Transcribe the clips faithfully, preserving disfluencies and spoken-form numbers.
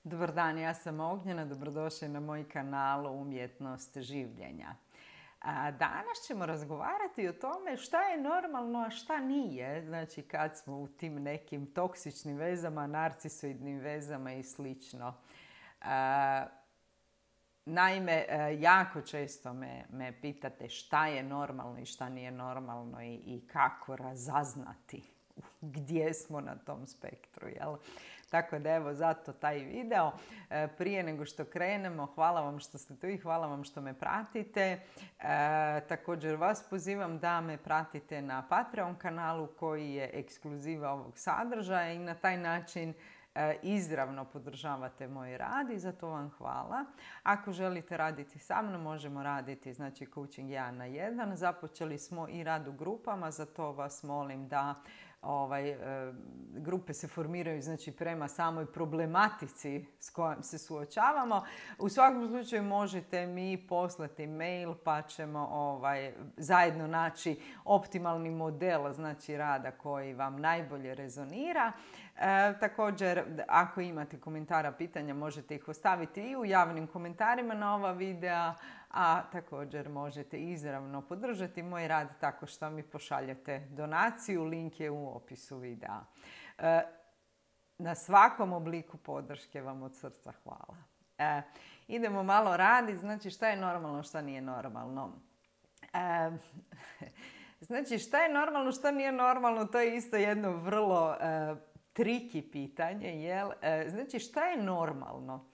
Dobar dan, ja sam Ognjena, dobrodošli na moj kanal Umjetnost življenja. A danas ćemo razgovarati o tome šta je normalno, a šta nije. Znači kad smo u tim nekim toksičnim vezama, narcisoidnim vezama i slično. A, naime, jako često me, me pitate šta je normalno i šta nije normalno i, i kako razaznati gdje smo na tom spektru, jel? Tako da evo, zato taj video. Prije nego što krenemo, hvala vam što ste tu i hvala vam što me pratite. E, također vas pozivam da me pratite na Patreon kanalu koji je ekskluziva ovog sadržaja i na taj način e, izravno podržavate moj rad i za to vam hvala. Ako želite raditi sa mnom, možemo raditi znači coaching jedan na jedan. Započeli smo i rad u grupama, zato vas molim da Ovaj, e, grupe se formiraju znači, prema samoj problematici s kojom se suočavamo. U svakom slučaju možete mi poslati mail pa ćemo ovaj, zajedno naći optimalni model znači, rada koji vam najbolje rezonira. E, također, ako imate komentara, pitanja, možete ih ostaviti i u javnim komentarima na ova videa, a također možete izravno podržati moj rad tako što mi pošaljete donaciju. Link je u opisu videa. E, na svakom obliku podrške vam od srca hvala. E, idemo malo raditi. Znači šta je normalno, šta nije normalno. E, znači šta je normalno, šta nije normalno, to je isto jedno vrlo e, triki pitanje. Jel? E, znači šta je normalno?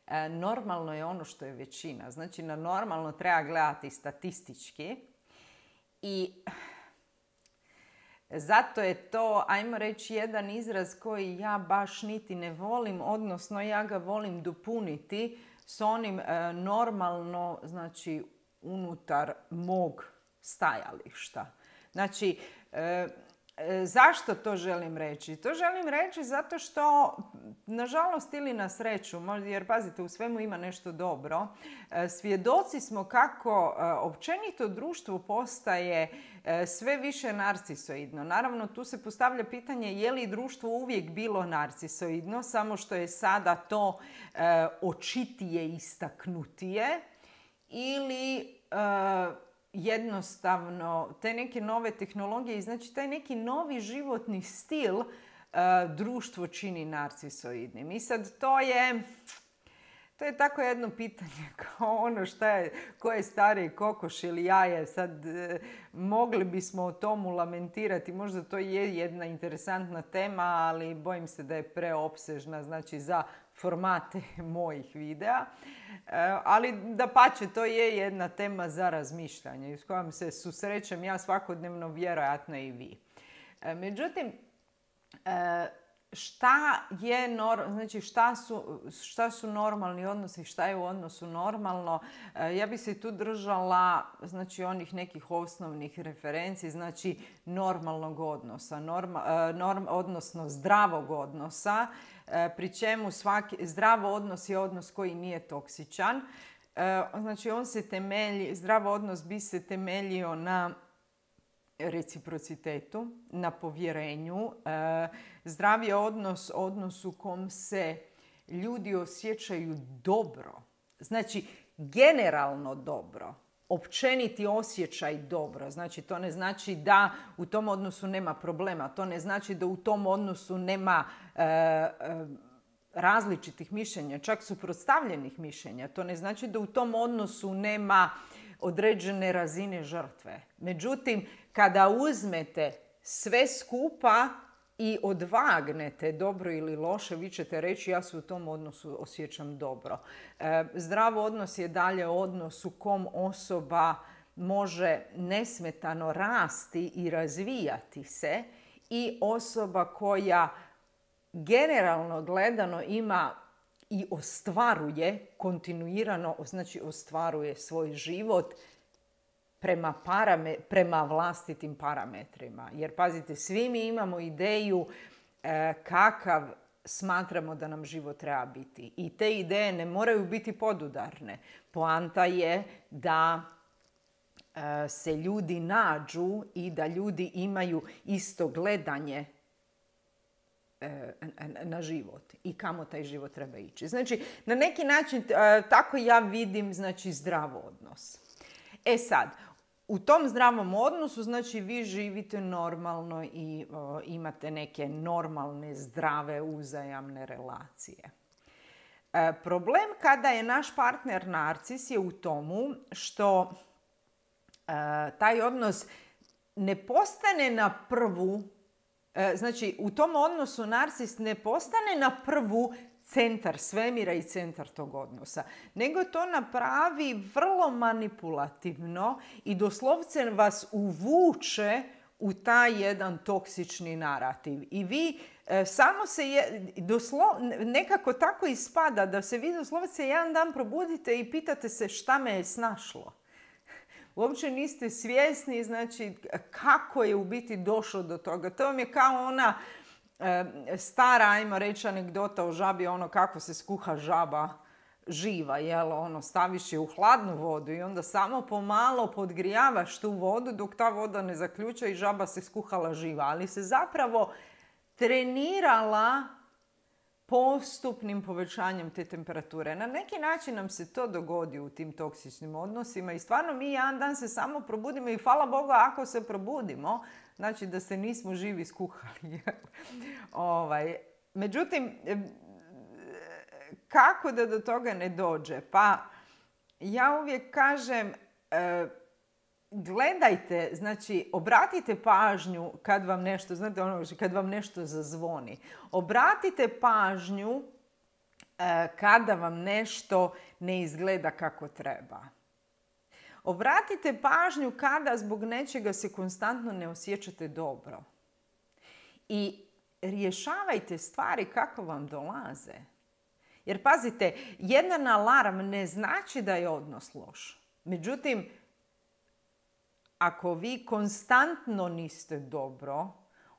E, normalno je ono što je većina. Znači na normalno treba gledati statistički i zato je to, ajmo reći, jedan izraz koji ja baš niti ne volim, odnosno ja ga volim dopuniti s onim e, normalno, znači unutar mog stajališta. Znači, e, zašto to želim reći? To želim reći zato što, nažalost ili na sreću, jer pazite, u svemu ima nešto dobro, svjedoci smo kako općenito društvo postaje sve više narcisoidno. Naravno, tu se postavlja pitanje je li društvo uvijek bilo narcisoidno, samo što je sada to očitije, istaknutije, ili jednostavno te neke nove tehnologije i znači taj neki novi životni stil uh, društvo čini narcisoidnim. I sad to je, to je tako jedno pitanje kao ono šta je, ko je stariji kokoš ili jaje. Sad uh, mogli bismo o tomu lamentirati, možda to je jedna interesantna tema, ali bojim se da je preopsežna znači za formate mojih videa. Ali dapače, to je jedna tema za razmišljanje s kojom se susrećem ja svakodnevno, vjerojatno i vi. Međutim, šta je nor- znači šta su, šta su normalni odnosi, šta je u odnosu normalno? Ja bih se tu držala znači onih nekih osnovnih referenci, znači normalnog odnosa, norma, norm, odnosno zdravog odnosa, pri čemu svaki zdrav odnos je odnos koji nije toksičan. Znači on se temelji, zdrav odnos bi se temeljio na reciprocitetu, na povjerenju. Zdrav je odnos, odnos u kom se ljudi osjećaju dobro. Znači generalno dobro. Općeniti osjećaj dobro. Znači to ne znači da u tom odnosu nema problema. To ne znači da u tom odnosu nema e, e, različitih mišljenja, čak suprotstavljenih mišljenja. To ne znači da u tom odnosu nema određene razine žrtve. Međutim, kada uzmete sve skupa i odvagnete dobro ili loše, vi ćete reći ja se u tom odnosu osjećam dobro. E, zdrav odnos je dalje odnos u kom osoba može nesmetano rasti i razvijati se i osoba koja generalno gledano ima i ostvaruje kontinuirano, znači ostvaruje svoj život prema, parame, prema vlastitim parametrima. Jer pazite, svi mi imamo ideju e, kakav smatramo da nam život treba biti. I te ideje ne moraju biti podudarne. Poanta je da e, se ljudi nađu i da ljudi imaju isto gledanje na život i kamo taj život treba ići. Znači, na neki način tako ja vidim, znači, zdrav odnos. E sad, u tom zdravom odnosu, znači, vi živite normalno i o, imate neke normalne, zdrave, uzajamne relacije. E, problem kada je naš partner narcis je u tomu što e, taj odnos ne postane na prvu, e, znači, u tom odnosu narcis ne postane na prvu centar svemira i centar tog odnosa, nego to napravi vrlo manipulativno i doslovce vas uvuče u taj jedan toksični narativ. I vi e, samo se je, doslo, nekako tako ispada da se vi doslovce jedan dan probudite i pitate se šta me je snašlo. Uopće niste svjesni, znači, kako je u biti došlo do toga. To vam je kao ona e, stara, ajmo reći, anegdota o žabi, ono kako se skuha žaba živa, jel? Ono, staviš je u hladnu vodu i onda samo pomalo podgrijavaš tu vodu dok ta voda ne zaključa i žaba se skuhala živa. Ali se zapravo trenirala postupnim povećanjem te temperature. Na neki način nam se to dogodi u tim toksičnim odnosima i stvarno mi jedan dan se samo probudimo i hvala Bogu ako se probudimo, znači da se nismo živi skuhali. ovaj. Međutim, kako da do toga ne dođe? Pa ja uvijek kažem, gledajte, znači obratite pažnju kad vam nešto, znate ono, kad vam nešto zazvoni. Obratite pažnju e, kada vam nešto ne izgleda kako treba. Obratite pažnju kada zbog nečega se konstantno ne osjećate dobro. I rješavajte stvari kako vam dolaze. Jer pazite, jedan alarm ne znači da je odnos loš. Međutim, ako vi konstantno niste dobro,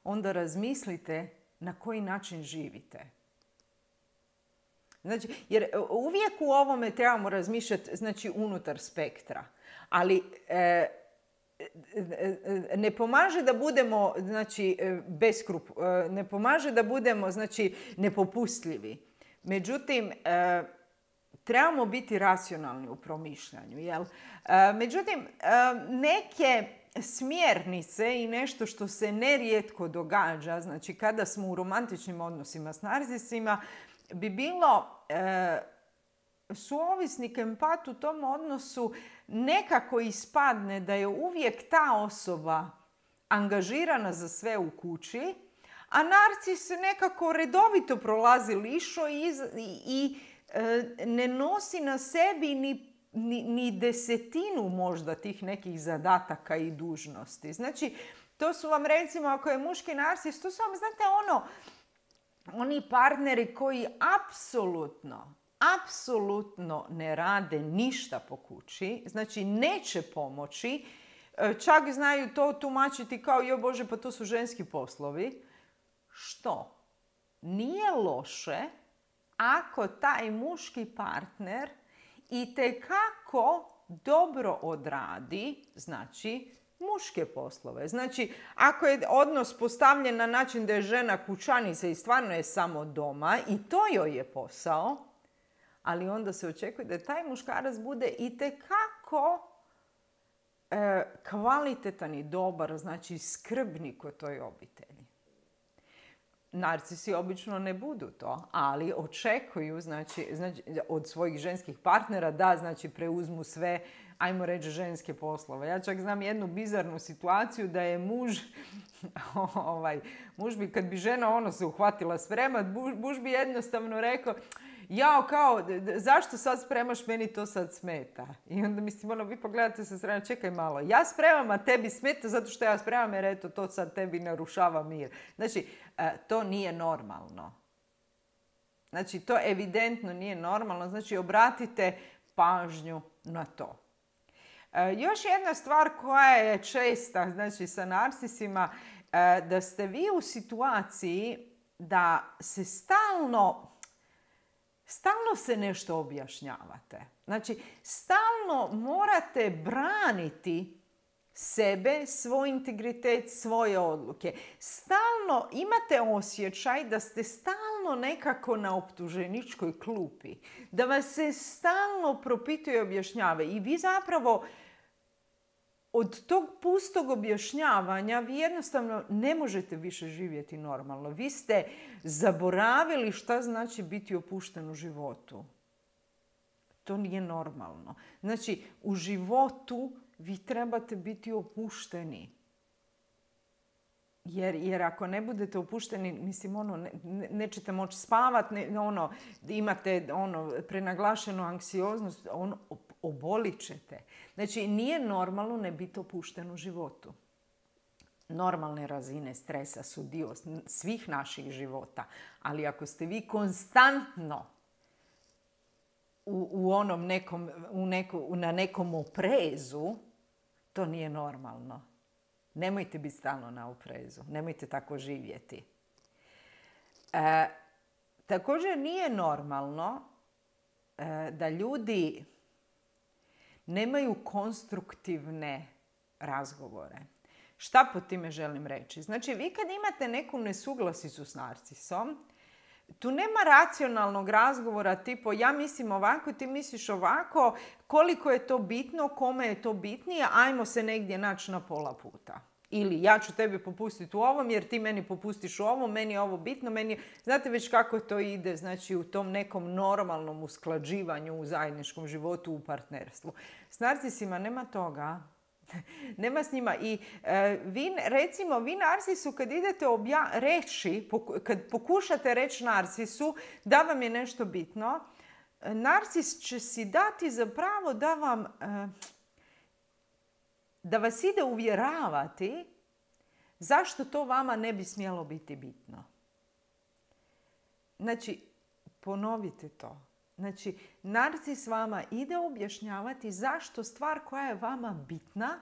onda razmislite na koji način živite. Znači, jer uvijek u ovome trebamo razmišljati, znači, unutar spektra. Ali e, ne pomaže da budemo, znači, beskrup, ne pomaže da budemo, znači, nepopustljivi. Međutim, e, trebamo biti racionalni u promišljanju, jel? E, međutim, e, neke smjernice i nešto što se nerijetko događa, znači kada smo u romantičnim odnosima s narcisima, bi bilo e, suovisnik, empat u tom odnosu nekako ispadne da je uvijek ta osoba angažirana za sve u kući, a narcis nekako redovito prolazi lišo i, i, i ne nosi na sebi ni, ni, ni desetinu možda tih nekih zadataka i dužnosti. Znači, to su vam, recimo, ako je muški narcis, to su vam, znate, ono, oni partneri koji apsolutno, apsolutno ne rade ništa po kući, znači neće pomoći, čak znaju to tumačiti kao, jo Bože, pa to su ženski poslovi. Što? Nije loše ako taj muški partner itekako dobro odradi, znači, muške poslove. Znači, ako je odnos postavljen na način da je žena kućanica i stvarno je samo doma i to joj je posao, ali onda se očekuje da taj muškarac bude itekako e, kvalitetan i dobar, znači skrbnik u toj obitelji. Narcisi obično ne budu to, ali očekuju, znači, znači, od svojih ženskih partnera da, znači, preuzmu sve, ajmo reći, ženske poslove. Ja čak znam jednu bizarnu situaciju da je muž, ovaj, muž bi, kad bi žena ono se uhvatila spremat, muž bi jednostavno rekao, jao, kao, zašto sad spremaš, meni to sad smeta. I onda mislim, ono, vi pogledate se strane, čekaj malo, ja spremam, a tebi smeta zato što ja spremam, jer eto, to sad tebi narušava mir. Znači, to nije normalno. Znači, to evidentno nije normalno. Znači, obratite pažnju na to. Još jedna stvar koja je česta, znači, sa narcisima, da ste vi u situaciji da se stalno Stalno se nešto objašnjavate. Znači, stalno morate braniti sebe, svoj integritet, svoje odluke. Stalno imate osjećaj da ste stalno nekako na optuženičkoj klupi. Da vas se stalno propituje i objašnjava. I vi zapravo od tog pustog objašnjavanja vi jednostavno ne možete više živjeti normalno. Vi ste zaboravili šta znači biti opušten u životu. To nije normalno. Znači, u životu vi trebate biti opušteni. Jer, jer ako ne budete opušteni, mislim, ono, ne, nećete moći spavati, ne, ono, imate ono, prenaglašenu anksioznost, ono, obolit ćete. Znači, nije normalno ne biti opušten u životu. Normalne razine stresa su dio svih naših života. Ali ako ste vi konstantno u, u onom nekom, u neko, na nekom oprezu, to nije normalno. Nemojte biti stalno na oprezu. Nemojte tako živjeti. E, također nije normalno e, da ljudi nemaju konstruktivne razgovore. Šta po time želim reći? Znači, vi kad imate neku nesuglasicu s narcisom, tu nema racionalnog razgovora tipo ja mislim ovako, ti misliš ovako, koliko je to bitno, kome je to bitnije, ajmo se negdje naći na pola puta. Ili ja ću tebi popustiti u ovom jer ti meni popustiš u ovom, meni je ovo bitno, meni... Znate već kako to ide, znači u tom nekom normalnom usklađivanju u zajedničkom životu, u partnerstvu. S narcisima nema toga. Nema s njima. I e, vi, recimo, vi narcisu kad idete obja- reći, poku- kad pokušate reći narcisu da vam je nešto bitno, narcis će si dati za pravo da vam, e, da vas ide uvjeravati zašto to vama ne bi smjelo biti bitno. Znači, ponovite to. Znači, narcis vama ide objašnjavati zašto stvar koja je vama bitna,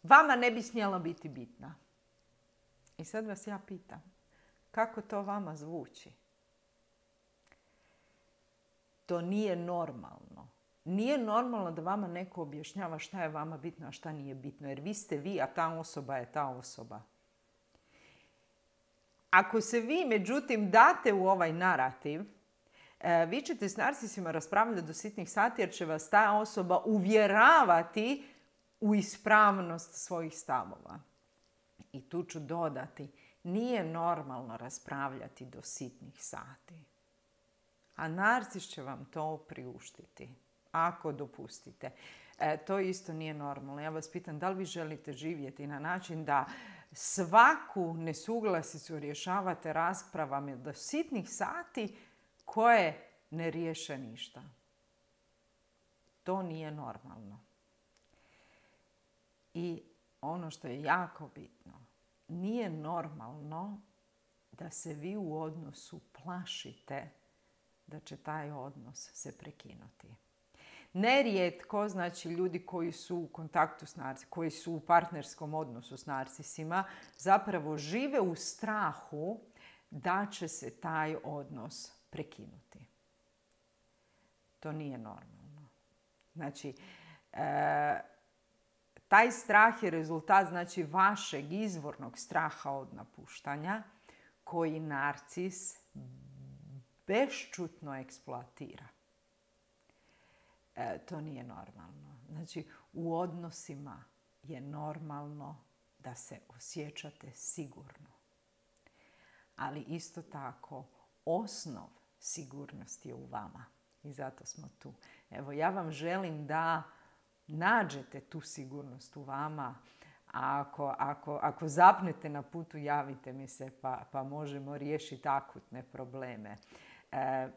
vama ne bi smjela biti bitna. I sad vas ja pitam, kako to vama zvuči? To nije normalno. Nije normalno da vama neko objašnjava šta je vama bitno, a šta nije bitno. Jer vi ste vi, a ta osoba je ta osoba. Ako se vi, međutim, date u ovaj narativ, vi ćete s narcisima raspravljati do sitnih sati jer će vas ta osoba uvjeravati u ispravnost svojih stavova. I tu ću dodati, nije normalno raspravljati do sitnih sati. A narcis će vam to priuštiti, ako dopustite. E, to isto nije normalno. Ja vas pitam, da li vi želite živjeti na način da svaku nesuglasicu rješavate raspravama do sitnih sati koje ne riješe ništa. To nije normalno. I ono što je jako bitno, nije normalno da se vi u odnosu plašite da će taj odnos se prekinuti. Nerijetko, znači ljudi koji su u kontaktu s narcisima, koji su u partnerskom odnosu s narcisima, zapravo žive u strahu da će se taj odnos prekinuti. To nije normalno. Znači, e, taj strah je rezultat, znači, vašeg izvornog straha od napuštanja koji narcis bešćutno eksploatira. E, to nije normalno. Znači, u odnosima je normalno da se osjećate sigurno. Ali isto tako, osnov sigurnosti je u vama. I zato smo tu. Evo, ja vam želim da nađete tu sigurnost u vama. A ako, ako, ako zapnete na putu, javite mi se pa, pa možemo riješiti akutne probleme. E,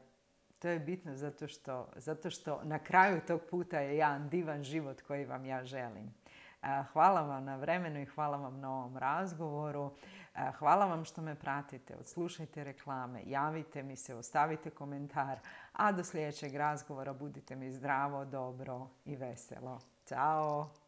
to je bitno zato što, zato što na kraju tog puta je jedan divan život koji vam ja želim. E, hvala vam na vremenu i hvala vam na ovom razgovoru. E, hvala vam što me pratite, odslušajte reklame, javite mi se, ostavite komentar. A do sljedećeg razgovora budite mi zdravo, dobro i veselo. Ćao!